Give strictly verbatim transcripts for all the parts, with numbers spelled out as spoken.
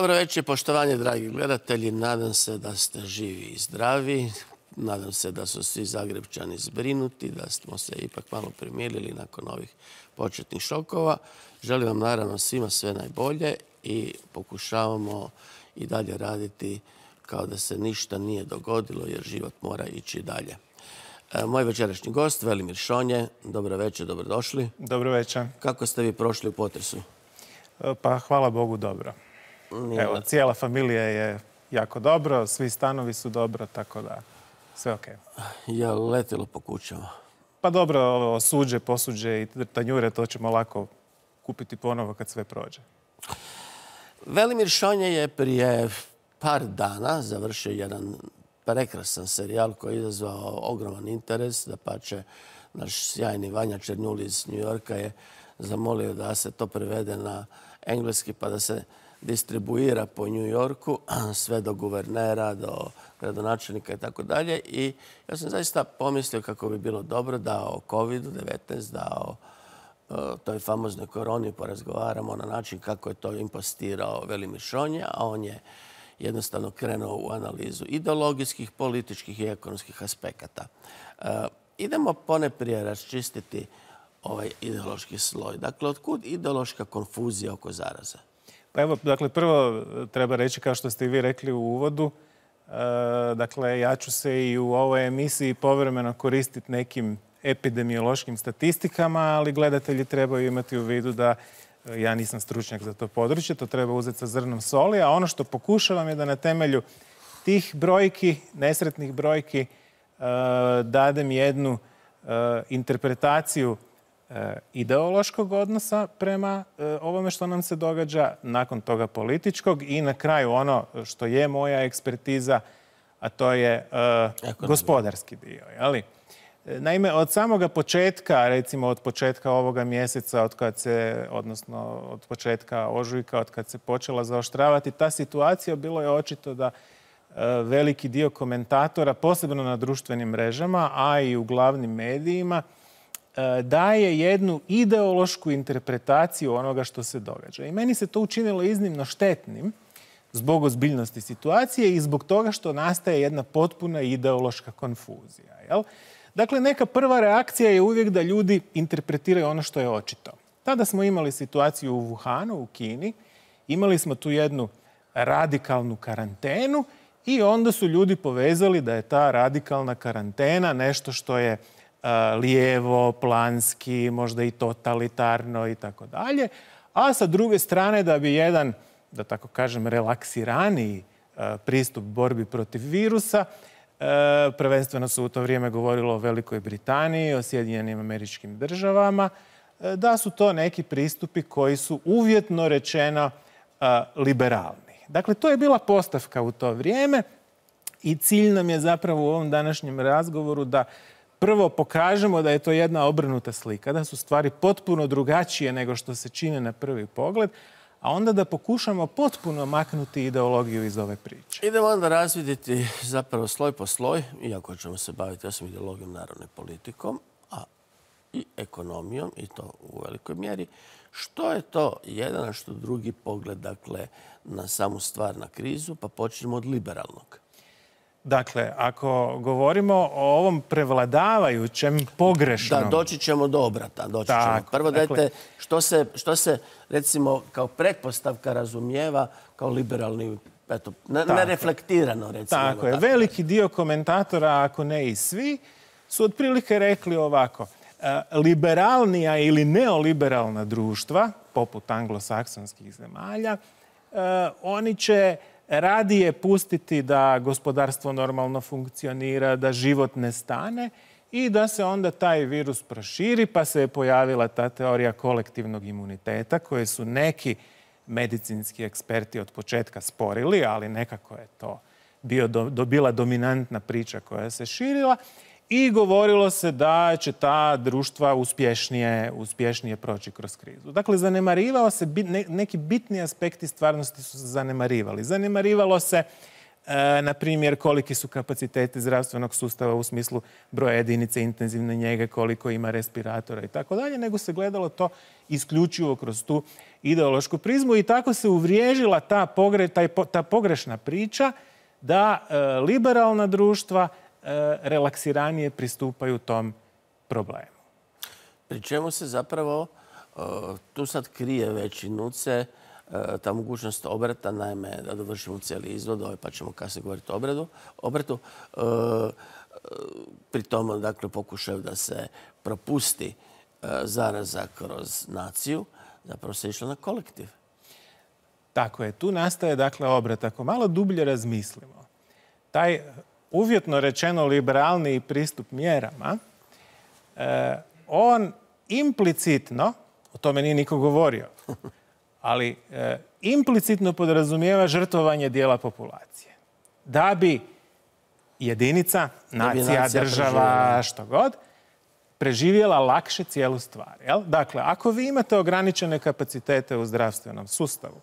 Dobro večer, poštovanje, dragi gledatelji. Nadam se da ste živi i zdravi. Nadam se da su svi Zagrepčani zbrinuti, da smo se ipak malo primirili nakon ovih početnih šokova. Želim vam naravno svima sve najbolje i pokušavamo i dalje raditi kao da se ništa nije dogodilo jer život mora ići dalje. Moj večerašnji gost, Velimir Šonje. Dobro večer, dobrodošli. Dobro večer. Kako ste vi prošli u potresu? Pa hvala Bogu dobro. Evo, cijela familija je jako dobro, svi stanovi su dobro, tako da sve ok. Je li letilo po kućama? Pa dobro, ovo suđe, posuđe i tanjure, to ćemo lako kupiti ponovo kad sve prođe. Velimir Šonje je prije par dana završio jedan prekrasan serijal koji je izazvao ogroman interes. Dapače, naš sjajni Vanja Černjul iz New Yorka je zamolio da se to prevede na engleski pa da se distribuira po New Yorku, sve do guvernera, do gradonačelnika i tako dalje. I ja sam zaista pomislio kako bi bilo dobro da o kovidu devetnaest, da o toj famoznoj koroni porazgovaramo na način kako je to impostirao Velimir Šonje, a on je jednostavno krenuo u analizu ideologijskih, političkih i ekonomskih aspekata. Idemo poneprije raščistiti ovaj ideološki sloj. Dakle, otkud ideološka konfuzija oko zaraze? Pa evo, dakle, prvo treba reći, kao što ste i vi rekli u uvodu, dakle, ja ću se i u ovoj emisiji povremeno koristiti nekim epidemiološkim statistikama, ali gledatelji trebaju imati u vidu da ja nisam stručnjak za to područje, to treba uzeti sa zrnom soli, a ono što pokušavam je da na temelju tih brojki, nesretnih brojki, dadem jednu interpretaciju ideološkog odnosa prema ovome što nam se događa, nakon toga političkog i na kraju ono što je moja ekspertiza, a to je gospodarski dio. Jeli? Naime, od samoga početka, recimo od početka ovoga mjeseca, od kad se, odnosno od početka ožujka, od kad se počela zaoštravati ta situacija, bilo je očito da veliki dio komentatora, posebno na društvenim mrežama, a i u glavnim medijima, daje jednu ideološku interpretaciju onoga što se događa. I meni se to učinilo iznimno štetnim zbog ozbiljnosti situacije i zbog toga što nastaje jedna potpuna ideološka konfuzija. Jel? Dakle, neka prva reakcija je uvijek da ljudi interpretiraju ono što je očito. Tada smo imali situaciju u Wuhanu, u Kini. Imali smo tu jednu radikalnu karantenu i onda su ljudi povezali da je ta radikalna karantena nešto što je lijevo, planski, možda i totalitarno i tako dalje. A sa druge strane da bi jedan, da tako kažem, relaksiraniji pristup borbi protiv virusa, prvenstveno se u to vrijeme govorilo o Velikoj Britaniji, o Sjedinjenim Američkim Državama, da su to neki pristupi koji su uvjetno rečeno liberalni. Dakle, to je bila postavka u to vrijeme i cilj nam je zapravo u ovom današnjem razgovoru da prvo pokažemo da je to jedna obrnuta slika, da su stvari potpuno drugačije nego što se čine na prvi pogled, a onda da pokušamo potpuno maknuti ideologiju iz ove priče. Idemo onda razvidjeti zapravo sloj po sloj, iako ćemo se baviti osim ideologijom, naravno i politikom, a i ekonomijom, i to u velikoj mjeri. Što je to jedan, a što drugi pogled, dakle, na samu stvar, na krizu, pa počnemo od liberalnog. Dakle, ako govorimo o ovom prevladavajućem, pogrešnom... Da, doći ćemo do obrata. Doći ćemo. Prvo dajte što se, što se, recimo, kao pretpostavka razumijeva kao liberalni, eto, nereflektirano, recimo. Tako je. Veliki dio komentatora, ako ne i svi, su otprilike rekli ovako. Liberalnija ili neoliberalna društva, poput anglosaksonskih zemalja, oni će radije pustiti da gospodarstvo normalno funkcionira, da život ne stane i da se onda taj virus proširi, pa se je pojavila ta teorija kolektivnog imuniteta koje su neki medicinski eksperti od početka sporili, ali nekako je to bio, do, bila dominantna priča koja se širila i govorilo se da će ta društva uspješnije, uspješnije proći kroz krizu. Dakle, zanemarivao se, neki bitni aspekti stvarnosti su se zanemarivali. Zanemarivalo se, e, na primjer, koliki su kapaciteti zdravstvenog sustava u smislu broja jedinice intenzivne njege, koliko ima respiratora i tako dalje, nego se gledalo to isključivo kroz tu ideološku prizmu i tako se uvriježila ta, pogre, taj, ta pogrešna priča da e, liberalna društva e, relaksiranije pristupaju tom problemu. Pri čemu se zapravo e, tu sad krije već i nuce e, ta mogućnost obrata, naime da dovršimo cijeli izvod, ovaj, pa ćemo kasnije govoriti o obradu, obratu. E, pri tom, dakle, pokušaju da se propusti e, zaraza kroz naciju, zapravo se išlo na kolektiv. Tako je. Tu nastaje, dakle, obrat. Ako malo dublje razmislimo, taj uvjetno rečeno liberalniji pristup mjerama, e, on implicitno, o tome nije niko govorio, ali e, implicitno podrazumijeva žrtvovanje dijela populacije. Da bi jedinica, nacija, nacija država, što god, preživjela lakše cijelu stvar. Jel? Dakle, ako vi imate ograničene kapacitete u zdravstvenom sustavu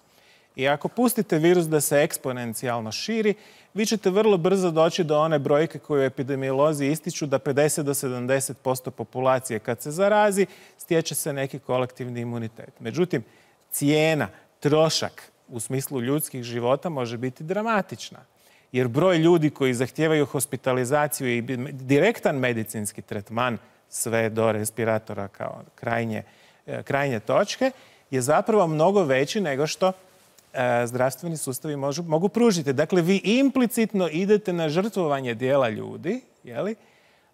i ako pustite virus da se eksponencijalno širi, vi ćete vrlo brzo doći do one brojke koju epidemiolozi ističu da pedeset do sedamdeset posto populacije kad se zarazi, stječe se neki kolektivni imunitet. Međutim, cijena, trošak u smislu ljudskih života može biti dramatična. Jer broj ljudi koji zahtijevaju hospitalizaciju i direktan medicinski tretman, sve do respiratora kao krajnje, krajnje točke, je zapravo mnogo veći nego što e, zdravstveni sustavi možu, mogu pružiti. Dakle, vi implicitno idete na žrtvovanje dijela ljudi, jeli,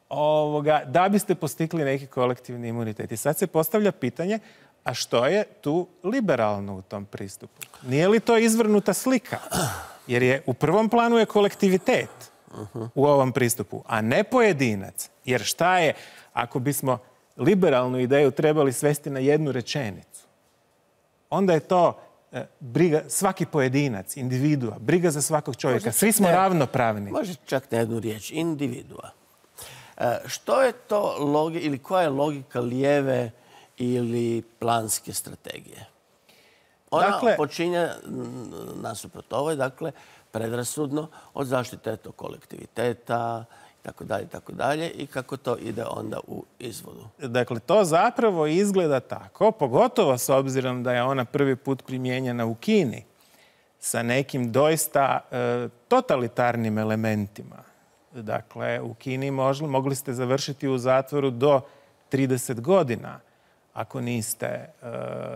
ovoga, da biste postigli neki kolektivni imunitet. I sad se postavlja pitanje, a što je tu liberalno u tom pristupu? Nije li to izvrnuta slika? Jer je u prvom planu je kolektivitet u ovom pristupu, a ne pojedinac. Jer šta je ako bismo liberalnu ideju trebali svesti na jednu rečenicu? Onda je to e, briga, svaki pojedinac, individua, briga za svakog čovjeka. Svi smo ne, ravnopravni. Može čak na jednu riječ, individua. E, što je to logi, ili koja je logika lijeve ili planske strategije? Ona dakle, počinje nasuprot ovoj, dakle, predrasudno od zaštite tog kolektiviteta, tako dalje, tako dalje, i kako to ide onda u izvodu. Dakle, to zapravo izgleda tako, pogotovo s obzirom da je ona prvi put primijenjena u Kini, sa nekim doista e, totalitarnim elementima. Dakle, u Kini možli, mogli ste završiti u zatvoru do trideset godina, ako niste e,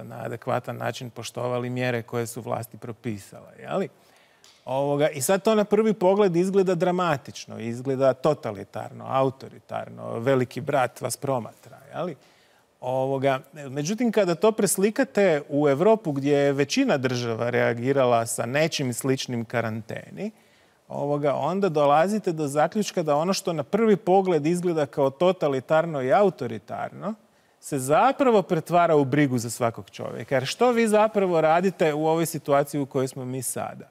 na adekvatan način poštovali mjere koje su vlasti propisale. Jeli? Ovoga, I sad to na prvi pogled izgleda dramatično, izgleda totalitarno, autoritarno, veliki brat vas promatra. Jeli? Ovoga, međutim, kada to preslikate u Europu gdje je većina država reagirala sa nečim sličnim karanteni, ovoga, onda dolazite do zaključka da ono što na prvi pogled izgleda kao totalitarno i autoritarno se zapravo pretvara u brigu za svakog čovjeka. Jer što vi zapravo radite u ovoj situaciji u kojoj smo mi sada?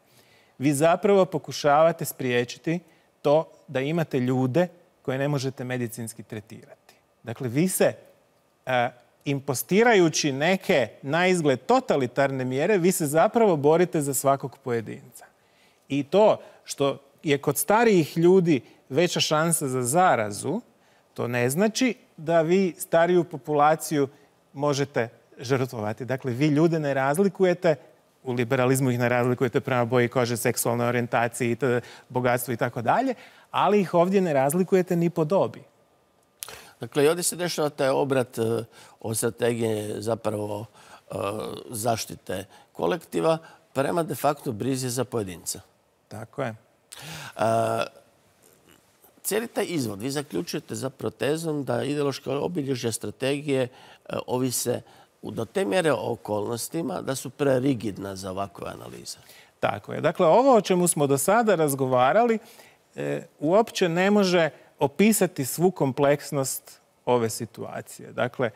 Vi zapravo pokušavate spriječiti to da imate ljude koje ne možete medicinski tretirati. Dakle, vi se, e, impostirajući neke na izgled totalitarne mjere, vi se zapravo borite za svakog pojedinca. I to što je kod starijih ljudi veća šansa za zarazu, to ne znači da vi stariju populaciju možete žrtvovati. Dakle, vi ljude ne razlikujete, u liberalizmu ih ne razlikujete prema boji kože, seksualnoj orijentaciji, bogatstvu i tako dalje, ali ih ovdje ne razlikujete ni po dobi. Dakle, i ovdje se dešava taj obrat od strategije zapravo zaštite kolektiva prema de facto brizi za pojedinca. Tako je. Cijeli taj izvod vi zaključujete za protezom da ideološke obilježja strategije ovise do te mjere o okolnostima da su prerigidna za ovakve analize. Tako je. Dakle, ovo o čemu smo do sada razgovarali e, uopće ne može opisati svu kompleksnost ove situacije. Dakle,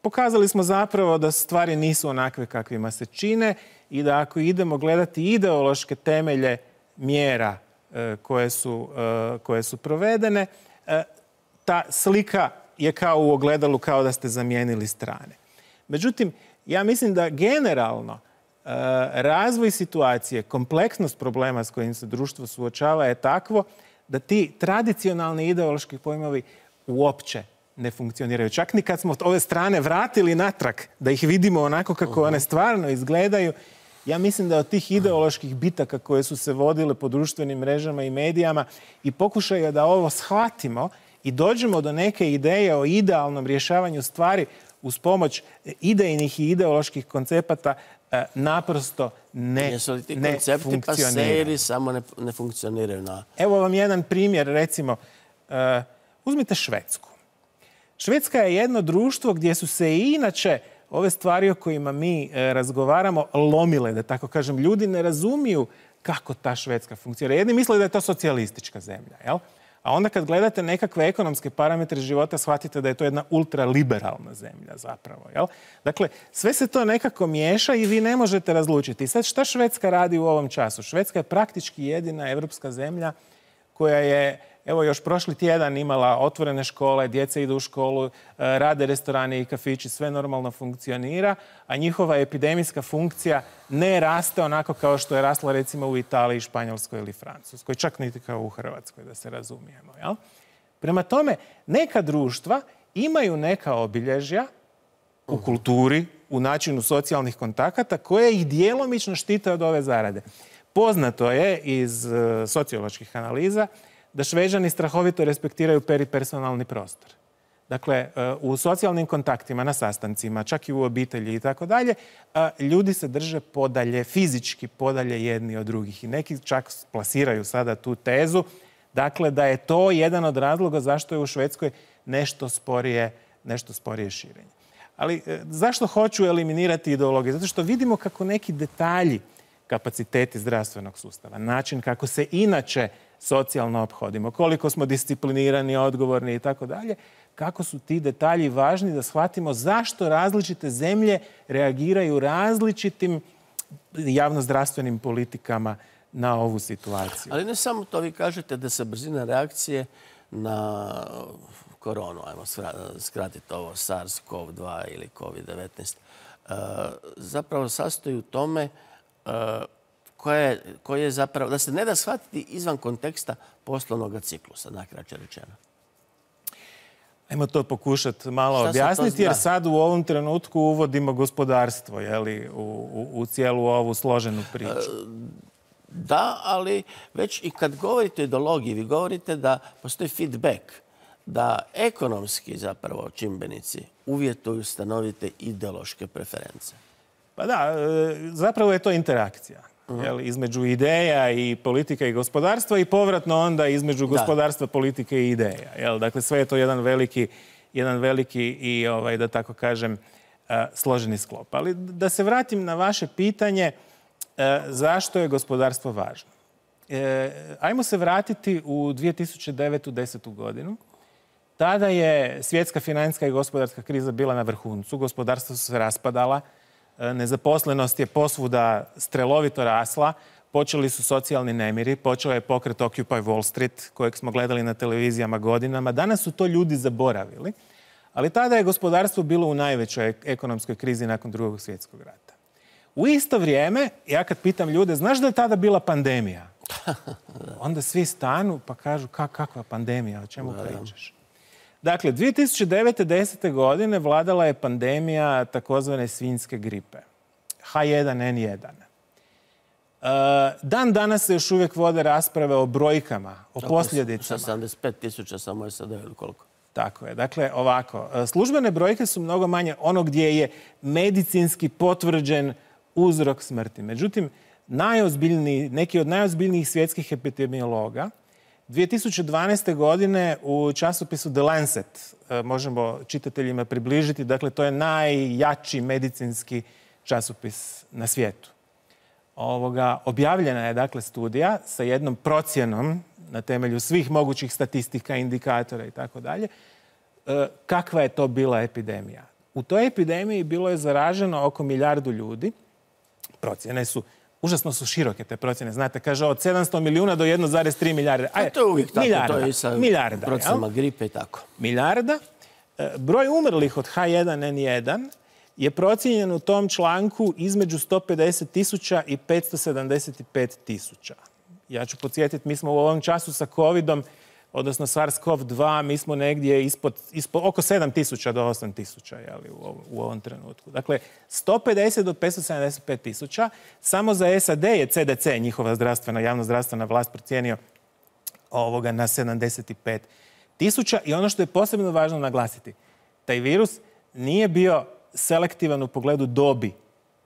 pokazali smo zapravo da stvari nisu onakve kakvima se čine i da ako idemo gledati ideološke temelje mjera e, koje, su, e, koje su provedene, e, ta slika je kao u ogledalu, kao da ste zamijenili strane. Međutim, ja mislim da generalno e, razvoj situacije, kompleksnost problema s kojim se društvo suočava je takvo da ti tradicionalni ideološki pojmovi uopće ne funkcioniraju. Čak ni kad smo ove strane vratili natrag, da ih vidimo onako kako one stvarno izgledaju, ja mislim da od tih ideoloških bitaka koje su se vodile po društvenim mrežama i medijama i pokušaja da ovo shvatimo i dođemo do neke ideje o idealnom rješavanju stvari uz pomoć idejnih i ideoloških koncepata naprosto ne, Jesu li ti ne koncepti funkcioniraju. paseri samo ne, ne funkcioniraju na... Evo vam jedan primjer, recimo, uh, uzmite Švedsku. Švedska je jedno društvo gdje su se i inače ove stvari o kojima mi e, razgovaramo lomile, da tako kažem. Ljudi ne razumiju kako ta Švedska funkcionira. Jedni misle da je to socijalistička zemlja, jel? A onda kad gledate nekakve ekonomske parametre života, shvatite da je to jedna ultraliberalna zemlja zapravo, jel? Dakle, sve se to nekako miješa i vi ne možete razlučiti. I sad šta Švedska radi u ovom času? Švedska je praktički jedina evropska zemlja koja je, evo, još prošli tjedan imala otvorene škole, djeca idu u školu, rade restorani i kafići, sve normalno funkcionira, a njihova epidemijska funkcija ne raste onako kao što je rasla recimo u Italiji, Španjolskoj ili Francuskoj, čak niti kao u Hrvatskoj, da se razumijemo. Jel? Prema tome, neka društva imaju neka obilježja u kulturi, u načinu socijalnih kontakata, koje ih djelomično štite od ove zarade. Poznato je iz socioloških analiza da Šveđani strahovito respektiraju peripersonalni prostor. Dakle, u socijalnim kontaktima, na sastancima, čak i u obitelji i tako dalje, ljudi se drže podalje, fizički podalje jedni od drugih. I neki čak plasiraju sada tu tezu, dakle, da je to jedan od razloga zašto je u Švedskoj nešto sporije, nešto sporije širenje. Ali zašto hoću eliminirati ideologiju? Zato što vidimo kako neki detalji, kapaciteti zdravstvenog sustava, način kako se inače socijalno ophodimo, koliko smo disciplinirani, odgovorni i tako dalje, kako su ti detalji važni da shvatimo zašto različite zemlje reagiraju različitim javnozdravstvenim politikama na ovu situaciju. Ali ne samo to, vi kažete da se brzina reakcije na koronu, ajmo skratiti ovo SARS CoV dva ili COVID devetnaest, zapravo sastoji u tome koje, koje je zapravo, da se ne da shvatiti izvan konteksta poslovnog ciklusa, nakraće rečeno. Ajmo to pokušati malo objasniti, jer sad u ovom trenutku uvodimo gospodarstvo, jeli, u, u, u cijelu ovu složenu priču. Da, ali već i kad govorite o ideologiji, vi govorite da postoji feedback, da ekonomski zapravo čimbenici uvjetuju stanovite ideološke preference. Pa da, zapravo je to interakcija. Jel, između ideja i politika i gospodarstva i povratno onda između gospodarstva, politike i ideja. Jel, dakle, sve je to jedan veliki, jedan veliki i, ovaj, da tako kažem, složeni sklop. Ali da se vratim na vaše pitanje zašto je gospodarstvo važno. E, ajmo se vratiti u dvije tisuće devetu. desetu godinu. Tada je svjetska financijska i gospodarska kriza bila na vrhuncu. Gospodarstvo su se raspadala. Nezaposlenost je posvuda strelovito rasla, počeli su socijalni nemiri, počeo je pokret Occupy Wall Street, kojeg smo gledali na televizijama godinama. Danas su to ljudi zaboravili, ali tada je gospodarstvo bilo u najvećoj ekonomskoj krizi nakon Drugog svjetskog rata. U isto vrijeme, ja kad pitam ljude, znaš da je tada bila pandemija? Onda svi stanu pa kažu, kakva pandemija, o čemu pričaš? Dakle, dvije tisuće devete. desete. godine vladala je pandemija takozvane svinjske gripe. H jedan N jedan. Dan danas se još uvijek vode rasprave o brojkama, o posljedicama. sedamdeset pet tisuća samo je sada ili koliko? Tako je. Dakle, ovako. Službene brojke su mnogo manje ono gdje je medicinski potvrđen uzrok smrti. Međutim, najozbiljniji, neki od najozbiljnijih svjetskih epidemiologa dvije tisuće dvanaeste. godine u časopisu The Lancet, možemo čitateljima približiti, dakle to je najjači medicinski časopis na svijetu. Ovoga, objavljena je dakle studija sa jednom procjenom na temelju svih mogućih statistika, indikatora i tako dalje, kakva je to bila epidemija. U toj epidemiji bilo je zaraženo oko milijardu ljudi. Procjene su Užasno su široke te procjene. Znate, kaže od sedamsto milijuna do jedan zarez tri milijarde. A to je uvijek tako. Milijarda, to je i sa milijarda, procenama gripe i tako. Milijarda. Broj umrlih od H jedan N jedan je procijenjen u tom članku između sto pedeset tisuća i petsto sedamdeset pet tisuća. Ja ću podsjetiti, mi smo u ovom času sa covidom odnosno SARS-CoV dva, mi smo negdje ispod, ispod oko sedam tisuća do osam tisuća u, u ovom trenutku. Dakle, sto pedeset do petsto sedamdeset pet tisuća. Samo za S A D je C D C, njihova zdravstvena, javno zdravstvena vlast, procijenio ovoga na sedamdeset pet tisuća. I ono što je posebno važno naglasiti, taj virus nije bio selektivan u pogledu dobi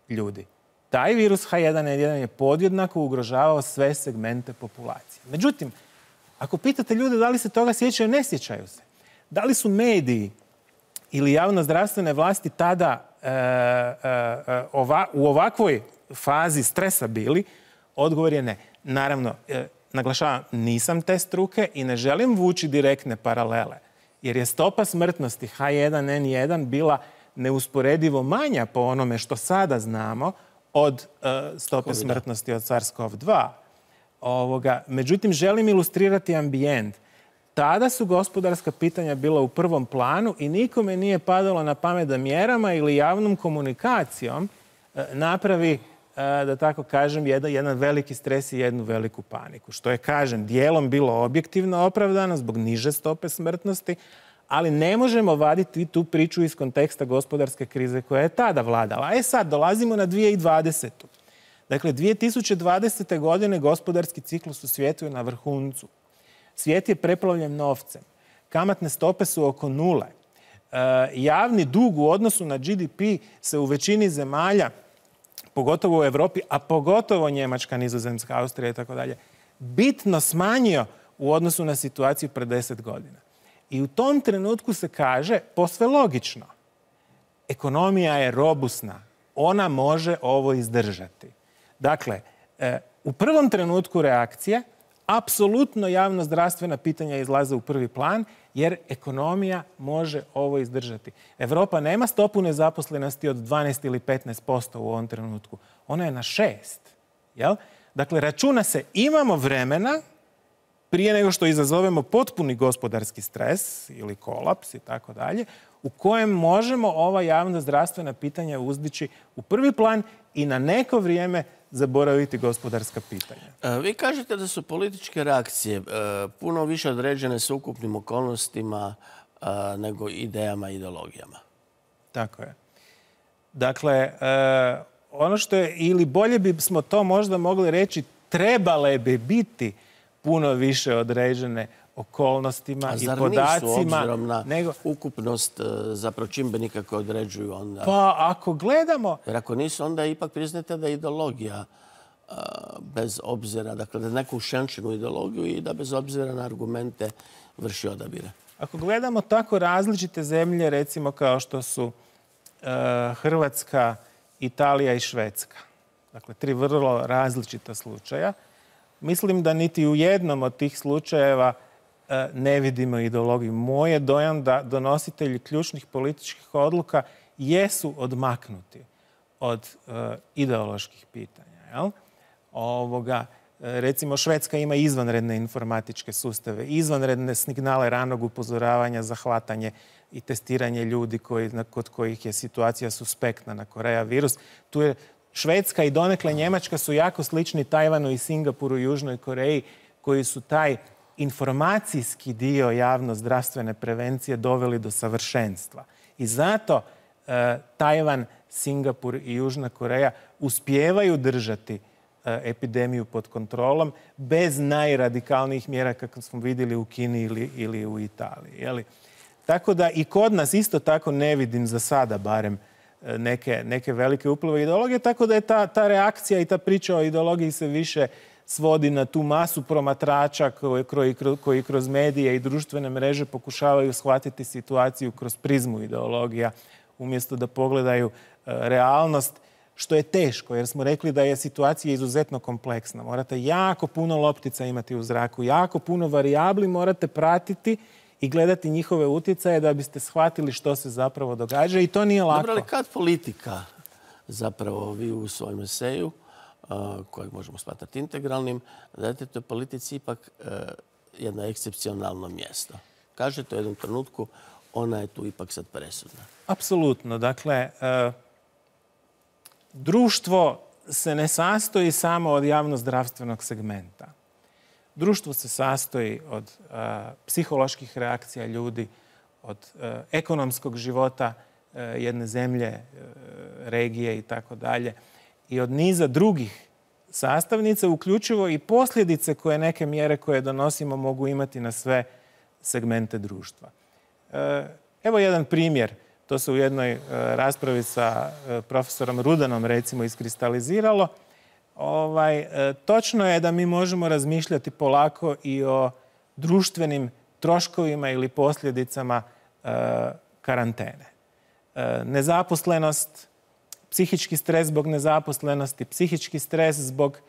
ljudi. Taj virus H jedan N jedan je podjednako ugrožavao sve segmente populacije. Međutim, ako pitate ljude da li se toga sjećaju, ne sjećaju se. Da li su mediji ili javno-zdravstvene vlasti tada e, e, ova, u ovakvoj fazi stresa bili? Odgovor je ne. Naravno, e, naglašavam, nisam te struke i ne želim vući direktne paralele, jer je stopa smrtnosti H jedan N jedan bila neusporedivo manja po onome što sada znamo od e, stope Covida. Smrtnosti od SARS-CoV dva. Ovoga. Međutim, želim ilustrirati ambijent. Tada su gospodarska pitanja bila u prvom planu i nikome nije padalo na pamet da mjerama ili javnom komunikacijom e, napravi, e, da tako kažem, jedan, jedan veliki stres i jednu veliku paniku. Što je, kažem, dijelom bilo objektivno opravdano zbog niže stope smrtnosti, ali ne možemo vaditi tu priču iz konteksta gospodarske krize koja je tada vladala. E sad, dolazimo na dvije tisuće dvadesetu. Dakle, dvije tisuće dvadesete. godine gospodarski ciklus u svijetu je na vrhuncu. Svijet je preplavljen novcem. Kamatne stope su oko nule. E, javni dug u odnosu na G D P se u većini zemalja, pogotovo u Europi, a pogotovo Njemačka, Nizozemska, Austrija i tako dalje, bitno smanjio u odnosu na situaciju pred deset godina. I u tom trenutku se kaže, posve logično, ekonomija je robusna. Ona može ovo izdržati. Dakle, e, u prvom trenutku reakcije apsolutno javno-zdravstvena pitanja izlaze u prvi plan, jer ekonomija može ovo izdržati. Europa nema stopu nezaposlenosti od dvanaest ili petnaest posto u ovom trenutku. Ona je na šest. Jel? Dakle, računa se, imamo vremena prije nego što izazovemo potpuni gospodarski stres ili kolaps i tako dalje, u kojem možemo ova javno-zdravstvena pitanja uzdići u prvi plan i na neko vrijeme zaboraviti gospodarska pitanja. Vi kažete da su političke reakcije puno više određene s ukupnim okolnostima nego idejama i ideologijama. Tako je. Dakle, ono što je, ili bolje bismo to možda mogli reći, trebale bi biti puno više određene okolnostima i podacima. A zar nisu, obzirom na nego... ukupnost zapravo čimbenika koje određuju onda? Pa ako gledamo... Jer ako nisu, onda ipak priznate da je ideologija a, bez obzira, dakle da neku ušenčenu ideologiju i da bez obzira na argumente vrši odabire. Ako gledamo tako različite zemlje, recimo kao što su e, Hrvatska, Italija i Švedska, dakle tri vrlo različita slučaja, mislim da niti u jednom od tih slučajeva ne vidimo ideologiju. Moj je dojam da donositelji ključnih političkih odluka jesu odmaknuti od uh, ideoloških pitanja. Jel? Ovoga, recimo, Švedska ima izvanredne informatičke sustave, izvanredne signale ranog upozoravanja za hvatanje i testiranje ljudi koji, kod kojih je situacija suspektna na Korea virus. Tu je Švedska i donekle Njemačka su jako slični Tajvanu i Singapuru i Južnoj Koreji, koji su taj informacijski dio javno-zdravstvene prevencije doveli do savršenstva. I zato e, Tajvan, Singapur i Južna Koreja uspijevaju držati e, epidemiju pod kontrolom bez najradikalnijih mjera kako smo vidjeli u Kini ili, ili u Italiji. Jeli? Tako da i kod nas isto tako ne vidim za sada barem neke, neke velike uplive ideologije, tako da je ta, ta reakcija i ta priča o ideologiji se više svodi na tu masu promatrača koji, koji, koji kroz medije i društvene mreže pokušavaju shvatiti situaciju kroz prizmu ideologija, umjesto da pogledaju uh, realnost, što je teško, jer smo rekli da je situacija izuzetno kompleksna. Morate jako puno loptica imati u zraku, jako puno varijabli morate pratiti i gledati njihove utjecaje da biste shvatili što se zapravo događa i to nije lako. Dobro, ali kad politika, zapravo vi u svojem eseju, kojeg možemo smatrati integralnim, dajete toj politici ipak jedno ekscepcionalno mjesto. Kažete u jednom trenutku, ona je tu ipak sad presudna. Apsolutno. Dakle, društvo se ne sastoji samo od javno-zdravstvenog segmenta. Društvo se sastoji od uh, psiholoških reakcija ljudi, od uh, ekonomskog života uh, jedne zemlje, uh, regije i tako dalje, i od niza drugih sastavnice, uključivo i posljedice koje neke mjere koje donosimo mogu imati na sve segmente društva. Uh, evo jedan primjer. To se u jednoj uh, raspravi sa uh, profesorom Rudanom recimo iskristaliziralo. Ovaj, e, točno je da mi možemo razmišljati polako i o društvenim troškovima ili posljedicama e, karantene. E, nezaposlenost, psihički stres zbog nezaposlenosti, psihički stres zbog e,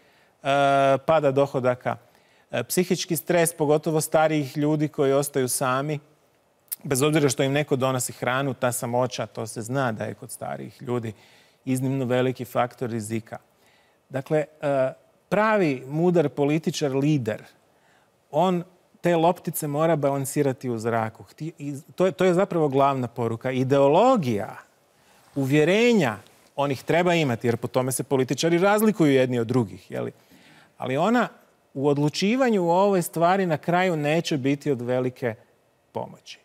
pada dohodaka, e, psihički stres pogotovo starijih ljudi koji ostaju sami, bez obzira što im neko donosi hranu, ta samoća, to se zna da je kod starijih ljudi iznimno veliki faktor rizika. Dakle, pravi mudar političar, lider, on te loptice mora balansirati u zraku. To je, to je zapravo glavna poruka. Ideologija, uvjerenja, on ih treba imati, jer po tome se političari razlikuju jedni od drugih. Jeli? Ali ona u odlučivanju u ovoj stvari na kraju neće biti od velike pomoći.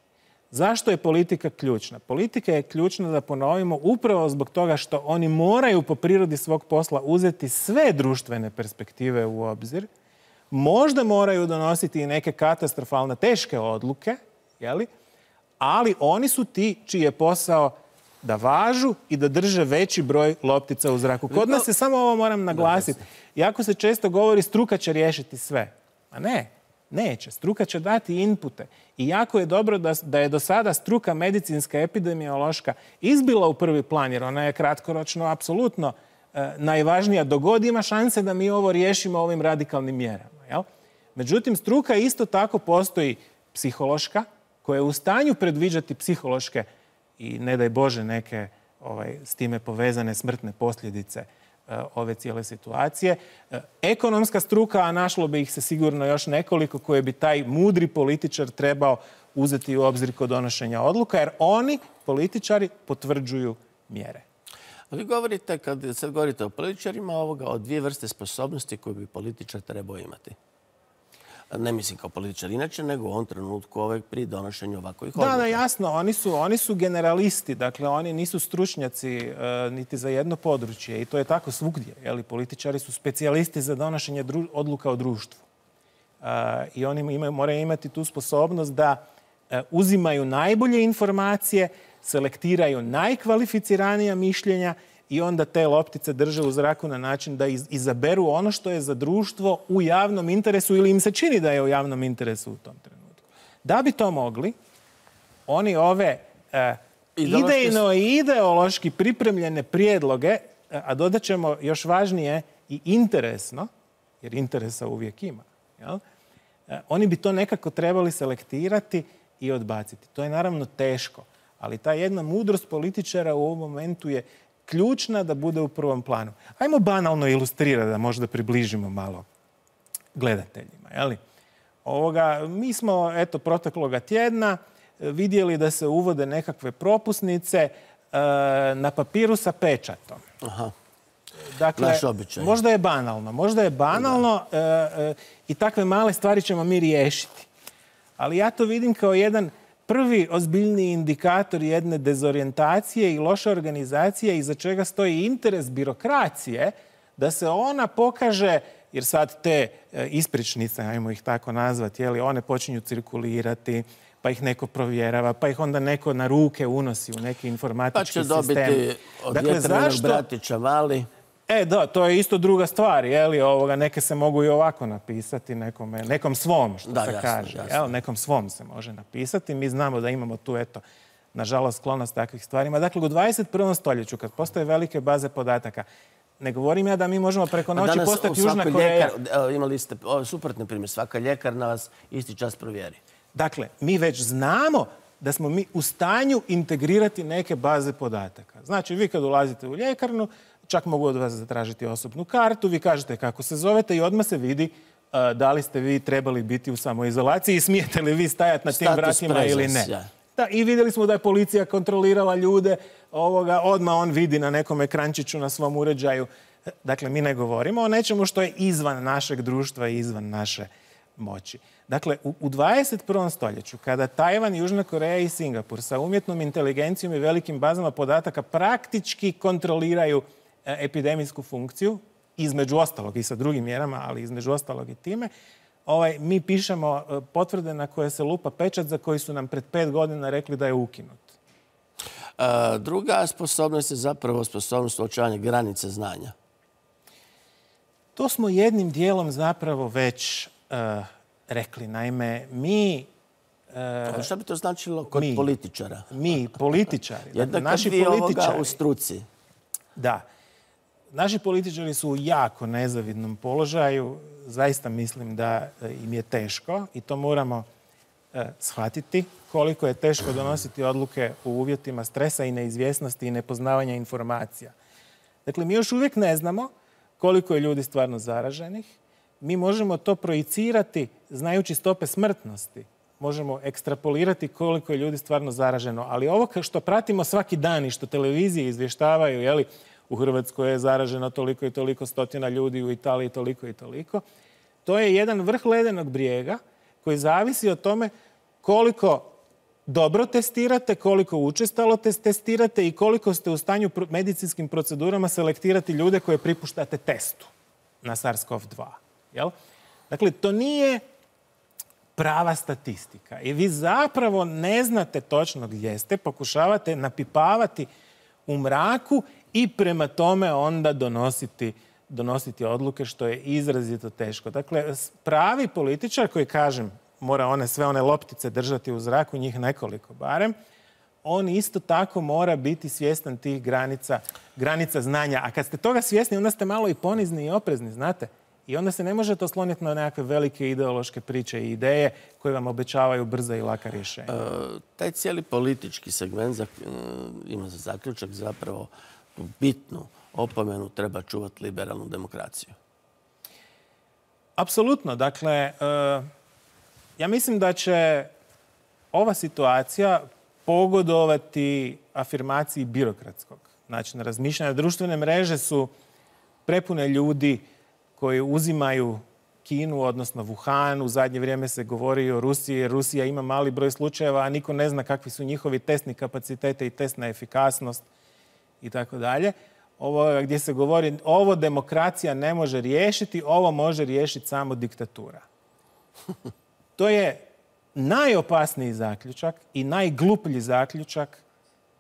Zašto je politika ključna? Politika je ključna, da ponovimo, upravo zbog toga što oni moraju po prirodi svog posla uzeti sve društvene perspektive u obzir. Možda moraju donositi i neke katastrofalne, teške odluke, jeli? Ali oni su ti čiji je posao da važu i da drže veći broj loptica u zraku. Kod nas se, samo ovo moram naglasiti, jako se često govori struka će riješiti sve. A ne. Neće. Struka će dati inpute. I jako je dobro da, da je do sada struka medicinska, epidemiološka izbila u prvi plan, jer ona je kratkoročno apsolutno e, najvažnija. Dogod ima šanse da mi ovo riješimo ovim radikalnim mjerama. Jel? Međutim, struka isto tako postoji psihološka, koja je u stanju predviđati psihološke i, ne daj Bože, neke ovaj, s time povezane smrtne posljedice ove cijele situacije. Ekonomska struka, a našlo bi ih se sigurno još nekoliko, koje bi taj mudri političar trebao uzeti u obzir kod donošenja odluka, jer oni, političari, potvrđuju mjere. Vi govorite, kad sad govorite o političarima, ovoga, o dvije vrste sposobnosti koje bi političar trebao imati. Ne mislim kao političar inače, nego u ovom trenutku ovaj, pri donošenju ovakvih odluka. Da, da, jasno. Oni su, oni su generalisti. Dakle, oni nisu stručnjaci e, niti za jedno područje. I to je tako svugdje. Jeli? Političari su specijalisti za donošenje dru, odluka o društvu. E, I oni imaju, moraju imati tu sposobnost da e, uzimaju najbolje informacije, selektiraju najkvalificiranija mišljenja i onda te loptice drže u zraku na način da izaberu ono što je za društvo u javnom interesu ili im se čini da je u javnom interesu u tom trenutku. Da bi to mogli, oni ove e, idejno i ideološki pripremljene prijedloge, a dodat ćemo još važnije i interesno, jer interesa uvijek ima, jel? E, oni bi to nekako trebali selektirati i odbaciti. To je naravno teško, ali ta jedna mudrost političara u ovom momentu je ključna da bude u prvom planu. Ajmo banalno ilustrirati, da možda približimo malo gledateljima. Jeli? Ovoga, mi smo, eto, protekloga tjedna vidjeli da se uvode nekakve propusnice e, na papiru sa pečatom. Aha. Dakle, naš običaj. Možda je banalno. Možda je banalno e, e, i takve male stvari ćemo mi riješiti. Ali ja to vidim kao jedan prvi ozbiljni indikator jedne dezorijentacije i loše organizacije iza čega stoji interes birokracije da se ona pokaže, jer sad te ispričnice, ajmo ih tako nazvati, jeli, one počinju cirkulirati, pa ih neko provjerava, pa ih onda neko na ruke unosi u neki informatički sistem. Pa će dobiti od dakle, vjetrenog zašto... bratića mali. E, da, to je isto druga stvar, jeli, ovoga, neke se mogu i ovako napisati, nekome, nekom svom, što da, se jasno, kaže. jasno. Jel? Nekom svom se može napisati. Mi znamo da imamo tu, eto, nažalost, sklonost takvih stvarima. Dakle, u dvadeset prvom stoljeću, kad postoje velike baze podataka, ne govorim ja da mi možemo preko noći postati Južna Koreja. Ljekar, imali ste suprotni primjer, svaka ljekarna vas isti čas provjeri. Dakle, mi već znamo da smo mi u stanju integrirati neke baze podataka. Znači, vi kad ulazite u ljekarnu, čak mogu od vas zatražiti osobnu kartu, vi kažete kako se zovete i odmah se vidi uh, da li ste vi trebali biti u samoizolaciji i smijete li vi stajati na tim Status vratima presence, ili ne. Ja. Da, i vidjeli smo da je policija kontrolirala ljude, ovoga, odmah on vidi na nekom ekrančiću na svom uređaju. Dakle, mi ne govorimo o nečemu što je izvan našeg društva i izvan naše moći. Dakle, u, u dvadeset prvom stoljeću, kada Tajvan, Južna Koreja i Singapur sa umjetnom inteligencijom i velikim bazama podataka praktički kontroliraju e, epidemijsku funkciju, između ostalog i sa drugim mjerama, ali između ostalog i time, ovaj, mi pišemo e, potvrde na koje se lupa pečat za koji su nam pred pet godina rekli da je ukinut. E, druga sposobnost je zapravo sposobnost uočavanja granice znanja. To smo jednim dijelom zapravo već uh, rekli. Naime, mi... Uh, šta bi to značilo kod mi, političara? Mi, političari. Jednako naši vi političari, ovoga u struci. Da. Naši političari su u jako nezavidnom položaju. Zaista mislim da im je teško i to moramo uh, shvatiti. Koliko je teško donositi odluke u uvjetima stresa i neizvjesnosti i nepoznavanja informacija. Dakle, mi još uvijek ne znamo koliko je ljudi stvarno zaraženih. Mi možemo to projicirati znajući stope smrtnosti. Možemo ekstrapolirati koliko je ljudi stvarno zaraženo. Ali ovo što pratimo svaki dan i što televizije izvještavaju, jeli, u Hrvatskoj je zaraženo toliko i toliko stotina ljudi, u Italiji toliko i toliko, to je jedan vrh ledenog brijega koji zavisi od tome koliko dobro testirate, koliko učestalo testirate i koliko ste u stanju medicinskim procedurama selektirati ljude koje pripuštate testu na SARS-CoV dva. Jel? Dakle, to nije prava statistika. I vi zapravo ne znate točno gdje ste, pokušavate napipavati u mraku i prema tome onda donositi, donositi odluke, što je izrazito teško. Dakle, pravi političar koji, kažem, mora one, sve one loptice držati u zraku, njih nekoliko barem, on isto tako mora biti svjestan tih granica, granica znanja. A kad ste toga svjesni, onda ste malo i ponizni i oprezni, znate? I onda se ne možete osloniti na nekakve velike ideološke priče i ideje koje vam obećavaju brza i laka rješenja. E, taj cijeli politički segment za, ima za zaključak zapravo bitnu opomenu treba čuvati liberalnu demokraciju. Apsolutno. Dakle, e, ja mislim da će ova situacija pogodovati afirmaciji birokratskog načina razmišljanja. Društvene mreže su prepune ljudi koji uzimaju Kinu, odnosno Wuhan. U zadnje vrijeme se govori o Rusiji, jer Rusija ima mali broj slučajeva, a niko ne zna kakvi su njihovi testni kapacitete i testna efikasnost i tako dalje. Ovo gdje se govori, ovo demokracija ne može riješiti, ovo može riješiti samo diktatura. To je najopasniji zaključak i najgluplji zaključak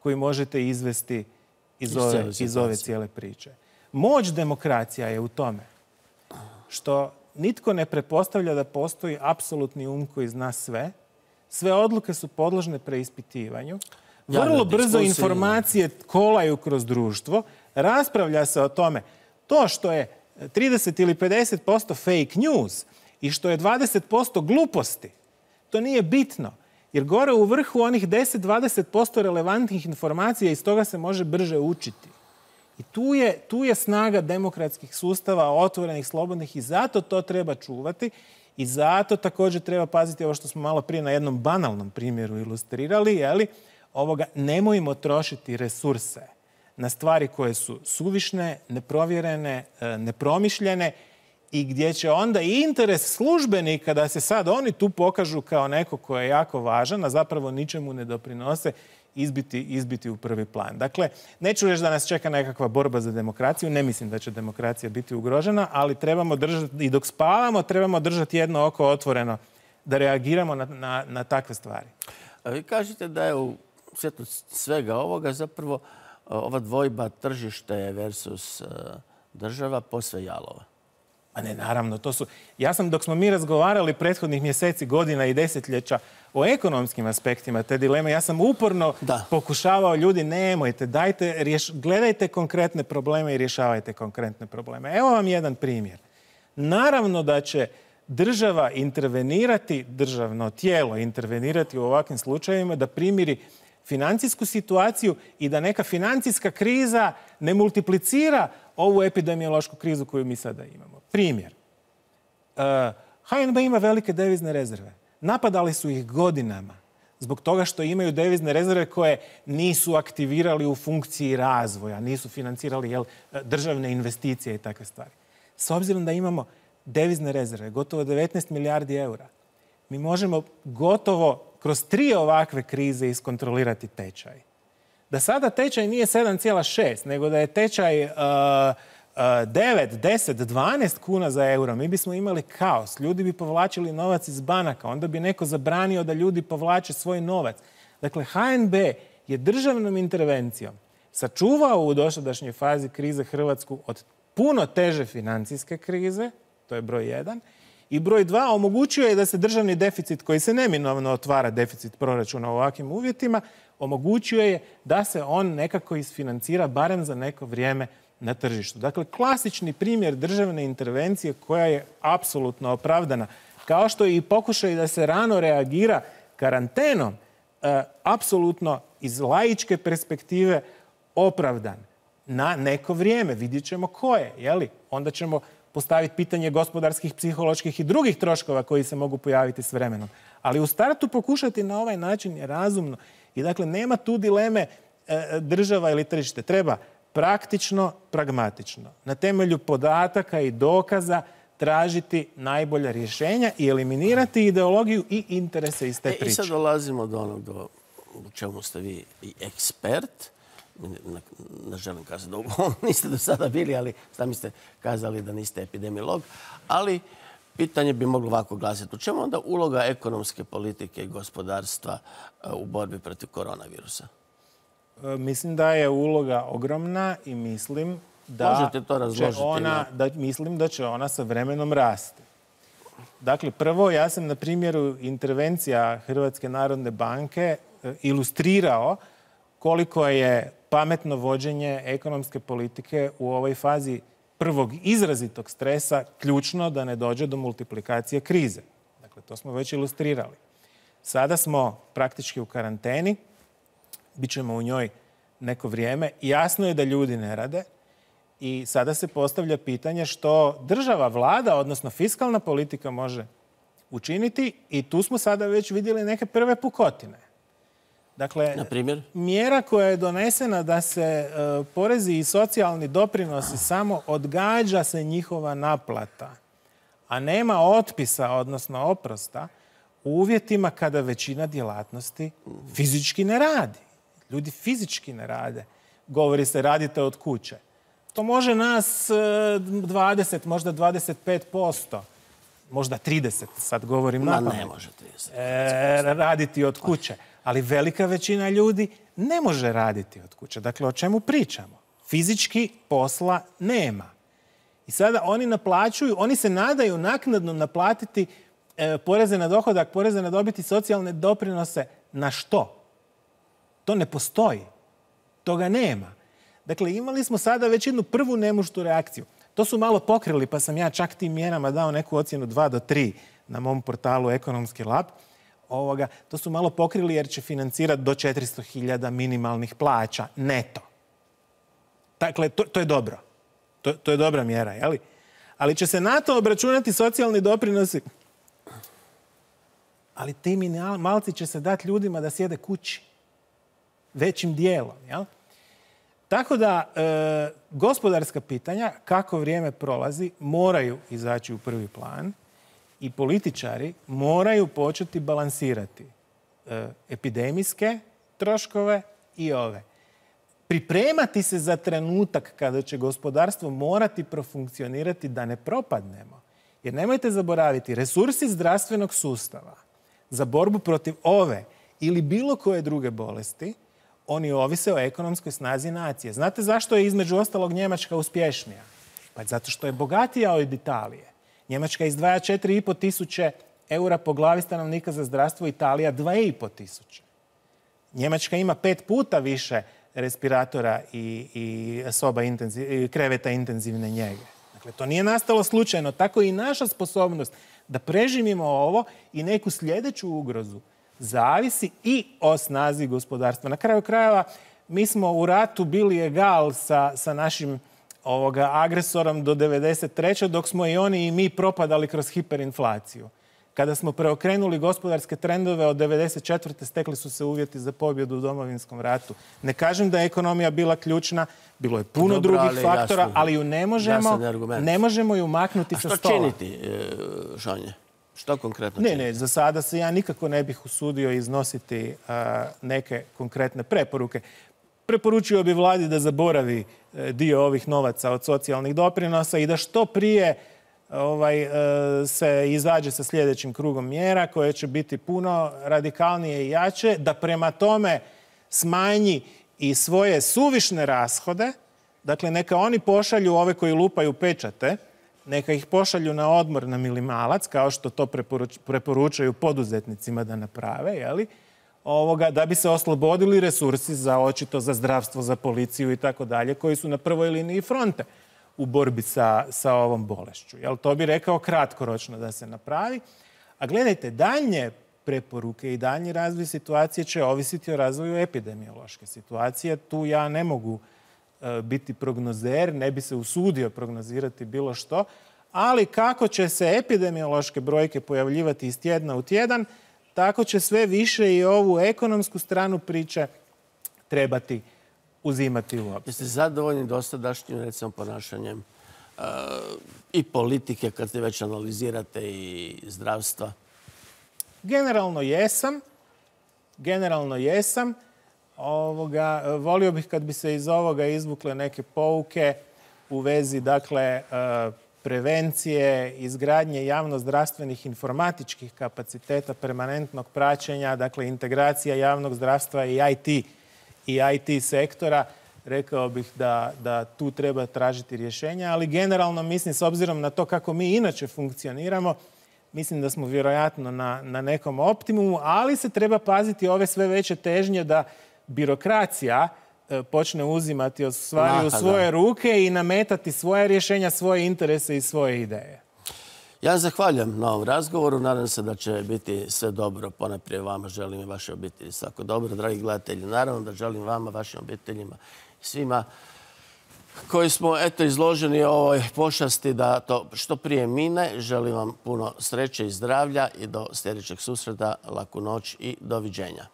koji možete izvesti iz ove, iz ove cijele priče. Moć demokracija je u tome što nitko ne pretpostavlja da postoji apsolutni um koji zna sve. Sve odluke su podložne preispitivanju. Vrlo brzo informacije kolaju kroz društvo. Raspravlja se o tome. To što je trideset ili pedeset posto fake news i što je dvadeset posto gluposti, to nije bitno. Jer gore u vrhu onih deset do dvadeset posto relevantnih informacija, iz toga se može brže učiti. I tu je, tu je snaga demokratskih sustava, otvorenih, slobodnih, i zato to treba čuvati. I zato također treba paziti ovo što smo malo prije na jednom banalnom primjeru ilustrirali, jeli, ovoga, nemojmo trošiti resurse na stvari koje su suvišne, neprovjerene, nepromišljene i gdje će onda i interes službenika da se sad oni tu pokažu kao neko ko je jako važan, a zapravo ničemu ne doprinose, izbiti, izbiti u prvi plan. Dakle, neću reći da nas čeka nekakva borba za demokraciju, ne mislim da će demokracija biti ugrožena, ali trebamo držati, i dok spavamo, trebamo držati jedno oko otvoreno da reagiramo na, na, na takve stvari. A vi kažete da je u svjetlu svega ovoga zapravo ova dvojba tržište versus država posve jalova. A ne, naravno, to su... Ja sam, dok smo mi razgovarali prethodnih mjeseci, godina i desetljeća o ekonomskim aspektima te dileme, ja sam uporno da. pokušavao ljudi, nemojte, dajte, rješ, gledajte konkretne probleme i rješavajte konkretne probleme. Evo vam jedan primjer. Naravno da će država intervenirati, državno tijelo intervenirati u ovakvim slučajevima da primiri financijsku situaciju i da neka financijska kriza ne multiplicira ovu epidemiološku krizu koju mi sada imamo. Primjer. H N B ima velike devizne rezerve. Napadali su ih godinama zbog toga što imaju devizne rezerve koje nisu aktivirali u funkciji razvoja, nisu financirali jel, državne investicije i takve stvari. S obzirom da imamo devizne rezerve, gotovo devetnaest milijardi eura. Mi možemo gotovo kroz tri ovakve krize iskontrolirati tečaj. Da sada tečaj nije sedam zarez šest, nego da je tečaj uh, uh, devet, deset, dvanaest kuna za euro, mi bismo imali kaos. Ljudi bi povlačili novac iz banaka, onda bi neko zabranio da ljudi povlače svoj novac. Dakle, ha en be je državnom intervencijom sačuvao u dosadašnjoj fazi krize Hrvatsku od puno teže financijske krize, to je broj jedan, i broj dva, omogućio je da se državni deficit, koji se neminovno otvara, deficit proračuna u ovakvim uvjetima, omogućio je da se on nekako isfinancira barem za neko vrijeme na tržištu. Dakle, klasični primjer državne intervencije koja je apsolutno opravdana, kao što je i pokušaj da se rano reagira karantenom, e, apsolutno iz laičke perspektive opravdan na neko vrijeme. Vidjet ćemo koje, jeli? Onda ćemo postaviti pitanje gospodarskih, psiholoških i drugih troškova koji se mogu pojaviti s vremenom. Ali u startu pokušati na ovaj način je razumno. I dakle, nema tu dileme e, država ili tržište. Treba praktično, pragmatično, na temelju podataka i dokaza tražiti najbolja rješenja i eliminirati ideologiju i interese iz te priče. E, I sad dolazimo do onog do u čemu ste vi i ekspert. Ne, ne želim kazati da niste do sada bili, ali sami ste kazali da niste epidemiolog. Ali pitanje bi moglo ovako glasiti. U čemu onda uloga ekonomske politike i gospodarstva u borbi protiv koronavirusa? Mislim da je uloga ogromna i mislim da, Možete to razložiti, će ona, da mislim da će ona sa vremenom rasti. Dakle, prvo, ja sam na primjeru intervencija Hrvatske narodne banke ilustrirao koliko je pametno vođenje ekonomske politike u ovoj fazi prvog izrazitog stresa ključno da ne dođe do multiplikacije krize. Dakle, to smo već ilustrirali. Sada smo praktički u karanteni, bit ćemo u njoj neko vrijeme. Jasno je da ljudi ne rade i sada se postavlja pitanje što država, vlada, odnosno fiskalna politika može učiniti i tu smo sada već vidjeli neke prve pukotine. Dakle, na primjer? Mjera koja je donesena da se e, porezi i socijalni doprinosi samo odgađa se njihova naplata, a nema otpisa, odnosno oprosta, u uvjetima kada većina djelatnosti fizički ne radi. Ljudi fizički ne rade. Govori se radite od kuće. To može nas dvadeset, možda dvadeset pet posto, možda trideset, sad govorim na pamet. Ne može trideset. E, raditi od kuće. Ali velika većina ljudi ne može raditi od kuće. Dakle, o čemu pričamo? Fizički posla nema. I sada oni naplaćuju, oni se nadaju naknadno naplatiti e, poreze na dohodak, poreze na dobit i socijalne doprinose. Na što? To ne postoji. Toga nema. Dakle, imali smo sada već jednu prvu nemuštu reakciju. To su malo pokrili, pa sam ja čak tim mjerama dao neku ocjenu dva do tri na mom portalu Ekonomski lab. Ovoga, to su malo pokrili jer će financirati do četiristo hiljada minimalnih plaća neto. Dakle, to, to je dobro. To, to je dobra mjera, jeli? Ali će se na to obračunati socijalni doprinosi. Ali ti minimalci će se dati ljudima da sjede kući. Većim dijelom, jel? Tako da, e, gospodarska pitanja, kako vrijeme prolazi, moraju izaći u prvi plan. I političari moraju početi balansirati e, epidemijske troškove i ove. Pripremati se za trenutak kada će gospodarstvo morati profunkcionirati da ne propadnemo. Jer nemojte zaboraviti, resursi zdravstvenog sustava za borbu protiv ove ili bilo koje druge bolesti, oni ovise o ekonomskoj snazi nacije. Znate zašto je između ostalog Njemačka uspješnija? Pa zato što je bogatija od Italije. Njemačka izdvaja četiri i pol tisuće eura po glavi stanovnika za zdravstvo, Italija dva i pol tisuće. Njemačka ima pet puta više respiratora i, i soba intenziv, kreveta intenzivne njege. Dakle, to nije nastalo slučajno. Tako i naša sposobnost da preživimo ovo i neku sljedeću ugrozu zavisi i o snazi gospodarstva. Na kraju krajeva, mi smo u ratu bili egal sa, sa našim ovoga agresorom do devedeset treće dok smo i oni i mi propadali kroz hiperinflaciju. Kada smo preokrenuli gospodarske trendove od devedeset četvrte stekli su se uvjeti za pobjedu u Domovinskom ratu. Ne kažem da je ekonomija bila ključna, bilo je puno Dobro, drugih ali faktora, jasno, ali ju ne možemo, ne možemo ju maknuti sa stola. A što činiti, Šanje? Što konkretno Ne, činiti? ne, za sada se ja nikako ne bih usudio iznositi a, neke konkretne preporuke. Preporučio bi vladi da zaboravi e, dio ovih novaca od socijalnih doprinosa i da što prije ovaj, e, se izađe sa sljedećim krugom mjera koje će biti puno radikalnije i jače, da prema tome smanji i svoje suvišne rashode. Dakle, neka oni pošalju ove koji lupaju pečate, neka ih pošalju na odmor na minimalac, kao što to preporuč, preporučaju poduzetnicima da naprave, jeli? Ovoga, da bi se oslobodili resursi za očito za zdravstvo, za policiju i tako dalje, koji su na prvoj liniji fronte u borbi sa, sa ovom bolešću. Jel, to bi rekao kratkoročno da se napravi. A gledajte, daljnje preporuke i daljnji razvoj situacije će ovisiti o razvoju epidemiološke situacije. Tu ja ne mogu e, biti prognozer, ne bi se usudio prognozirati bilo što, ali kako će se epidemiološke brojke pojavljivati iz tjedna u tjedan, tako će sve više i ovu ekonomsku stranu priče trebati uzimati u obzir. Jeste zadovoljni dosadašnjim, recimo, ponašanjem uh, i politike, kad se već analizirate, i zdravstva? Generalno jesam. Generalno jesam. Ovoga, volio bih kad bi se iz ovoga izvukle neke pouke u vezi, dakle, uh, prevencije, izgradnje javno-zdravstvenih informatičkih kapaciteta, permanentnog praćenja, dakle integracija javnog zdravstva i I T i I T sektora. Rekao bih da, da tu treba tražiti rješenja, ali generalno mislim, s obzirom na to kako mi inače funkcioniramo, mislim da smo vjerojatno na, na nekom optimumu, ali se treba paziti ove sve veće težnje da birokracija počne uzimati stvari u svoje ruke i nametati svoje rješenja, svoje interese i svoje ideje. Ja zahvaljujem na ovom razgovoru. Nadam se da će biti sve dobro. Ponajprije vama želim i vaše obitelji svako dobro. Dragi gledatelji, naravno da želim vama, vašim obiteljima i svima koji smo eto izloženi ovoj pošasti da to što prije mine. Želim vam puno sreće i zdravlja i do sljedećeg susreta. Laku noć i doviđenja.